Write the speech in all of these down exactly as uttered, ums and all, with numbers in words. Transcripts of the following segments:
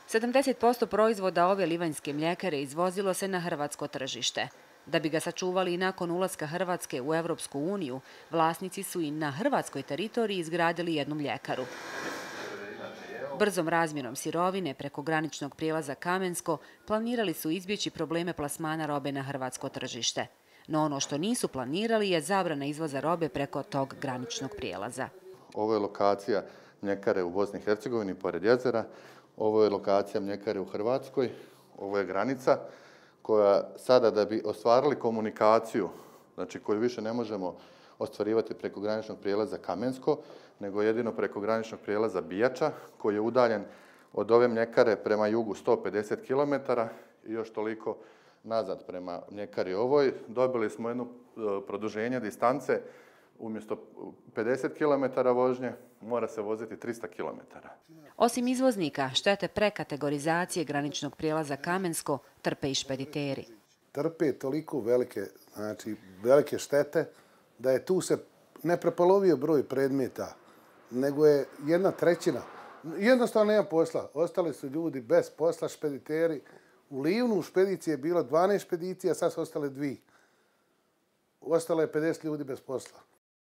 sedamdeset posto proizvoda ove livanjske mljekare izvozilo se na hrvatsko tržište. Da bi ga sačuvali i nakon ulaska Hrvatske u Evropsku uniju, vlasnici su i na hrvatskoj teritoriji izgradili jednu mljekaru. Brzom razmjenom sirovine preko graničnog prijelaza Kamensko planirali su izbjeći probleme plasmana robe na hrvatsko tržište. No ono što nisu planirali je zabrana izvoza robe preko tog graničnog prijelaza. Ovo je lokacija mljekare u Bosni i Hercegovini, pored jezera. Ovo je lokacija mljekare u Hrvatskoj. Ovo je granica koja sada, da bi ostvarili komunikaciju, znači koju više ne možemo ostvarivati preko graničnog prijelaza Kamensko, nego jedino preko graničnog prijelaza Bijača, koji je udaljen od ove mljekare prema jugu sto pedeset kilometara i još toliko nazad prema mljekari ovoj. Dobili smo jedno produženje distance. Umjesto pedeset kilometara vožnje mora se voziti trista kilometara. Osim izvoznika, štete prekategorizacije graničnog prijelaza Kamensko trpe i špediteri. Trpe toliko velike, znači, velike štete da je tu se ne prepolovio broj predmeta, nego je jedna trećina. Jednostavno nema posla. Ostali su ljudi bez posla, špediteri. U Livnu u špediciji je bilo dvanaest špedicija, sad su ostale dvije. Ostalo je pedeset ljudi bez posla.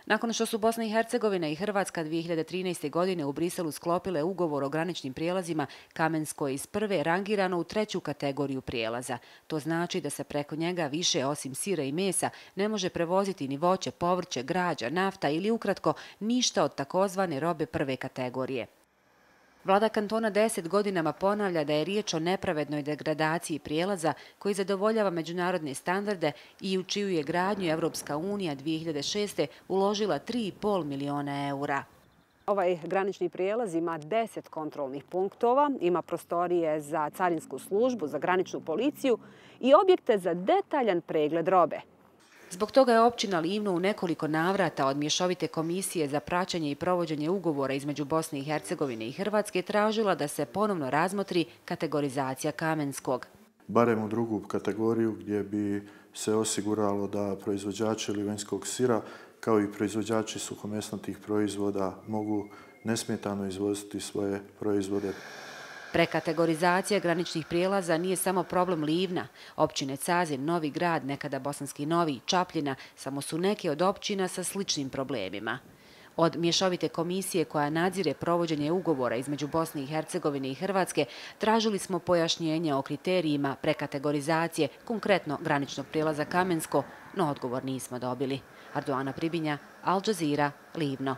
Nakon što su Bosna i Hercegovina i Hrvatska dvije hiljade trinaeste. godine u Briselu sklopile ugovor o graničnim prijelazima, Kamensko je iz prve rangirano u treću kategoriju prijelaza. To znači da se preko njega više osim sira i mesa ne može prevoziti ni voće, povrće, građa, nafta ili ukratko ništa od takozvane robe prve kategorije. Vlada kantona deset godinama ponavlja da je riječ o nepravednoj degradaciji prijelaza koji zadovoljava međunarodne standarde i u čiju je gradnju Evropska unija dvije hiljade šeste. uložila tri i pol miliona eura. Ovaj granični prijelaz ima deset kontrolnih punktova, ima prostorije za carinsku službu, za graničnu policiju i objekte za detaljan pregled robe. Zbog toga je općina Livno u nekoliko navrata od mješovite komisije za praćenje i provođenje ugovora između Bosne i Hercegovine i Hrvatske tražila da se ponovno razmotri kategorizacija Kamenskog. Barem u drugu kategoriju gdje bi se osiguralo da proizvođači livanjskog sira kao i proizvođači suhomesnatih proizvoda mogu nesmetano izvoziti svoje proizvode. Prekategorizacija graničnih prijelaza nije samo problem Livna. Općine Cazin, Novi Grad, nekada Bosanski Novi i Čapljina samo su neke od općina sa sličnim problemima. Od mješovite komisije koja nadzire provođenje ugovora između Bosne i Hercegovine i Hrvatske tražili smo pojašnjenje o kriterijima prekategorizacije, konkretno graničnog prijelaza Kamensko, no odgovor nismo dobili. Arduana Pribinja, Al Jazeera, Livno.